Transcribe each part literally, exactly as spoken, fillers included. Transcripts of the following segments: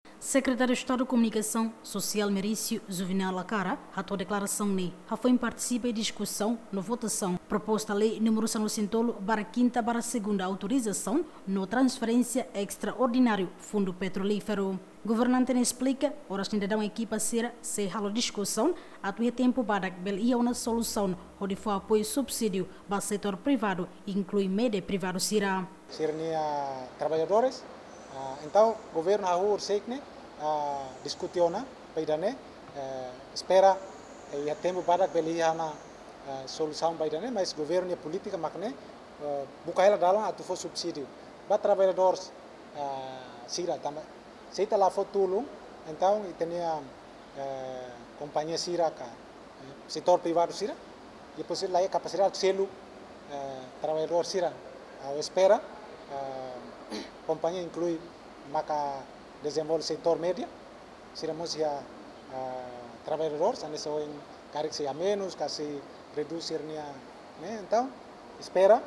Sekretáriu Estadu Komunikasaun Sosiál Merício Juvenal Lacara hato'o deklarasaun ne'e hafoin partisipa iha diskusaun no votasaun proposta lei númeru sanulu-resin-tolu barra kinta barra segunda autorizasaun no transferénsia estraordináriu Fundu Petrolíferu. Governante ne'e esplika, oras ne'e daudaun ekipa sira sei halo diskusaun atu iha tempu badak bele iha ona solusaun hodi fó apoiu subsídiu ba setór privadu, inklui média privadu sira. Sira-nia traballadores. Ah, entaun, governu hahú horisehik ne'e, ah, diskute ona ba ida-ne'e, eh, espera, eh, iha tempu badak bele iha ona, eh, solusaun ba ida-ne'e, mas governu nia polítika mak ne'e, eh, buka hela dalan atu fó subsídiu ba traballadores, eh, sira tanba se ita la fó tulun, entaun ita-nia, eh, kompañia sira ka, eh, setór privadu sira, depois la iha kapasidade selu, eh, traballadór sira. Ha'u espera, eh, kompañia inklui maka dezenvolve setór média, sira mós iha, eh, traballadór, hanesan ohin karik sei amenus, ka sei redús sira-nia, ne'e? Entaun, espera,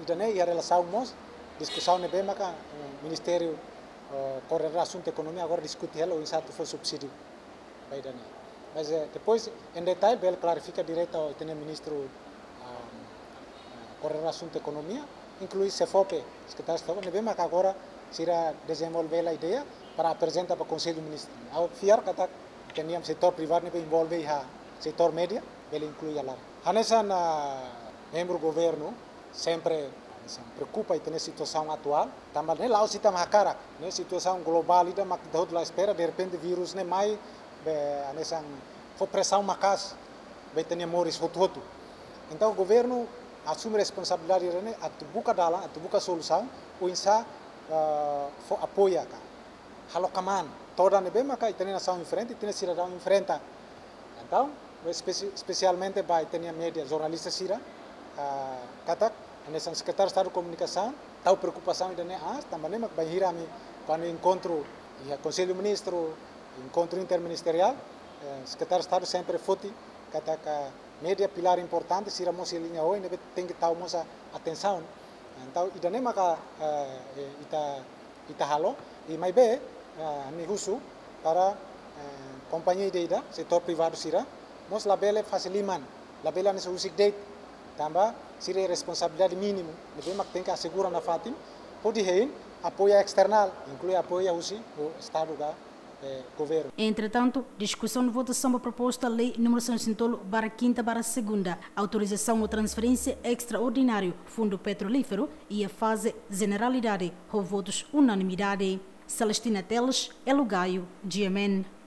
ida-ne'e iha relasaun mós diskusaun ne'ebé maka, eh, Ministériu, eh, Koordenadór Asuntu Ekonomia agora diskute hela oinsá atu fó subsídiu ba ida-ne'e. Mas, eh, depois, em detalhe, bele klarifika diretu ho ita-nia ministru, ah, ah, Koordenadór Asuntu Ekonomia, inklui SEFOPE, Sekretáriu Estadu, ne'ebé maka agora sira dezenvolve hela ideia para aprezenta ba Konsellu Ministru. Ha'u fiar katak ita-nia setór privadu ne'ebé envolve iha setór média, bele inklui hela. Hanesan, ah, membru governu, sempre, hanesan, preokupa ita-nia situasaun atuál, tanba ne'e la'ós ita mak hakarak, ne'e situasaun globál ida mak ita hotu la espera, derrepente vírus ne'e mai, be, hanesan, fó presaun maka'as ba ita-nia moris hotu-hotu. Entaun, governu asume responsabilidade ida-ne'e atu buka dalan, atu buka solusaun, oinsá, ah, fó apoia ka halo kmaan todan ne'ebé maka ita-nia nasaun enfrenta, ita-nia sidadaun enfrenta. Entaun, espesi-, espesialmente ba ita-nia média, jornalista sira, ah, katak, hanesan Sekretáriu Estadu Komunikasaun, tau preokupasaun ida-ne'e aas, tanba ne'e mak bainhira ami, kuandu enkontru iha Konsellu Ministru, enkontru interministeriál, eh, Sekretáriu Estadu sempre foti katak média pilár importante, sira mós iha liña oin, ne'ebé tenke tau mós atensaun. Entaun, ida-ne'e maka, eh, eh, ita ita halo, i maibé, ah, ami husu para, eh, kompañia ida-idak, setór privadu sira, mós labele fase liman, labele hanesan husik de'it, tanba sira iha responsabilidade mínimu, ne'ebé mak tenke asegura nafatin, hodi hein apoiu esternál, inklui apoiu husi Estadu ka, eh, governu. Entretantu, diskusaun no votasaun ba proposta lei númeru sanulu-resin-tolu barra kinta barra segunda, autorizasaun no transferénsia estraordináriu Fundu Petrolíferu, iha faze jeneralidade, ho votus unanimidade. Celestina Teles, Elo Gaio, G M N.